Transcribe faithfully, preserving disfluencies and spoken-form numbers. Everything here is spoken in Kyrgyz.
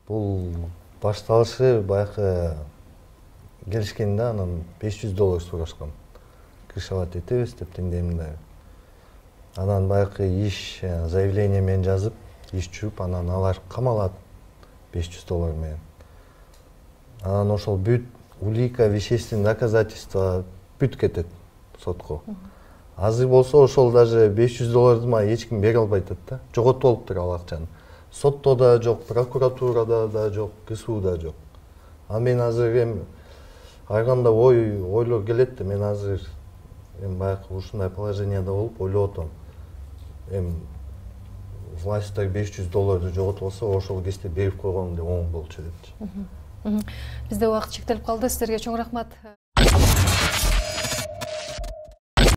Бул башталышы баягы келишкенде анан беш жүз доллар сурашкан. Крышевать этебиз деп теңдеймин. Анан баягы иш заявление менен жазып, иш жүрүп, анан алар камалат беш жүз доллар менен. Анан ошол бүт улика, вещественный доказательства бүт кетет сотко. Азыр болсо ошол даже беш жүз долларды мага эч ким бере албай атат да. Жоготуп алыптыр ал акчаны. Сотто да жок, прокуратурада да жок, КСУда жок. А мен азыр эми айганда ой ойлор келет да, мен азыр эми баягы ушундай положенияда болуп ойлоп атам. Эми власттар беш жүз долларды жоготуп алса, ошол кезде берип койгон деп оң болчу депчи. Бизде убакыт чектелип калды. Сиздерге чоң рахмат.